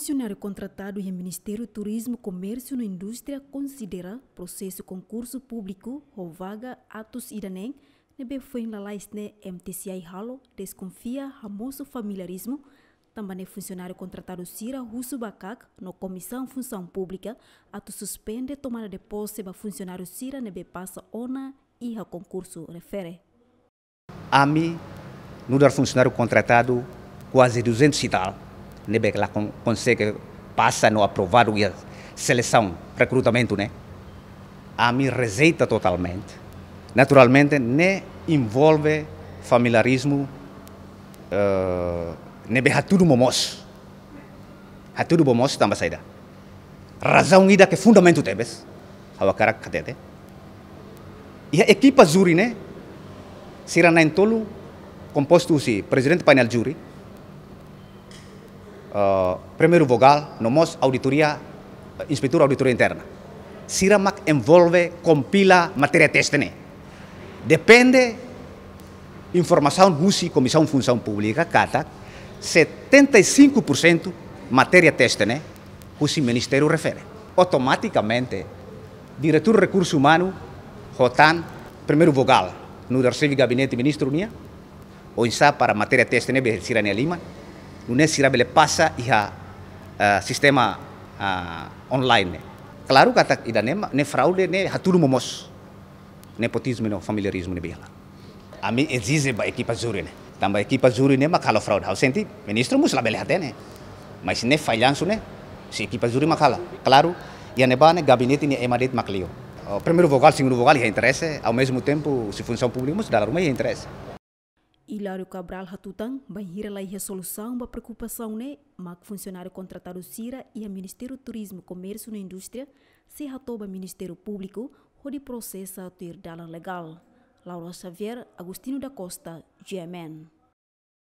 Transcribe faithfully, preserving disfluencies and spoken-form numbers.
Funsionáriu kontratadu iha Ministériu Turizmu, Komérsiu no Indústria konsidera prosesu konkursu públiku ho vaga atus ida neen ne'ebé foin lalais ne'e M T C I halo deskonfia hamosu familiarizmu, tanba ne'e funsionáriu kontratadu sira husu ba KAK no Komisaun Funsaun Públika atu suspende tomada de pose ba funsionáriu sira ne'ebé pasa ona iha konkursu refere. Ami nu'udar funsionáriu kontratadu kuaze duzentos e tal, ne'ebé la kon-, konsege pasa no aprovadu iha selesaun, rekrutamentu ne'e, ami rejeita totalmente. Naturalmente, ne'e envolve familiarizmu, eh, ne'ebé hatudu momoos. Hatudu momoos tanba saida? Razaun ida ke fundamentu tebes, ha'u hakarak hatete. Iha ekipa júri ne'e, sira na'in-tolu kompostu husi prezidente painel júri, eh, primeiru vogál, no mós auditoria, eh, inspetór auditoria interna. Sira mak envolve kompila matéria teste ne'e. Depende informasaun husi Komisaun Funsaun Públika katak setenta e cinco por cento matéria teste ne'e husi ministériu refere. Automatikamente, diretór rekursu umanu ho tan primeiru vogál, nu'udar xefe gabinete ministru nian, oinsá para matéria teste ne'ebé sira-nia liman, nune'e sira bele pasa iha, eh, sistema, ah, online ne'e. Klaru katak ida-ne'e mak, ne'e fraude, ne'e hatudu momoos. Nepotizmu no familiarizmu ne'ebé iha. Ami ezije ba ekipa júri ne'e. Tanba ekipa júri ne'e mak halo fraude. Ha'u sente, ministru mós labele hatene. Mas ne'e fallansu ne'e, husi ekipa júri mak halo. Klaru, iha ne'ebá ne'e gabinete nia ema de'it mak liu. Oh, primeiru vogál, segundu vogál iha interese, ao mesmo tempo, husi Funsaun Públika mós dala ruma iha interese. Hilário Cabral hatutan, bainhira la iha solusaun ba preokupasaun ne'e, mak funsionáriu kontratadu sira iha Ministériu Turizmu, Komérsiu no Indústria sei hato'o ba Ministériu Públiku hodi prosesa tuir dalan legál. Laura Xavier, Agostinho da Costa, G M N.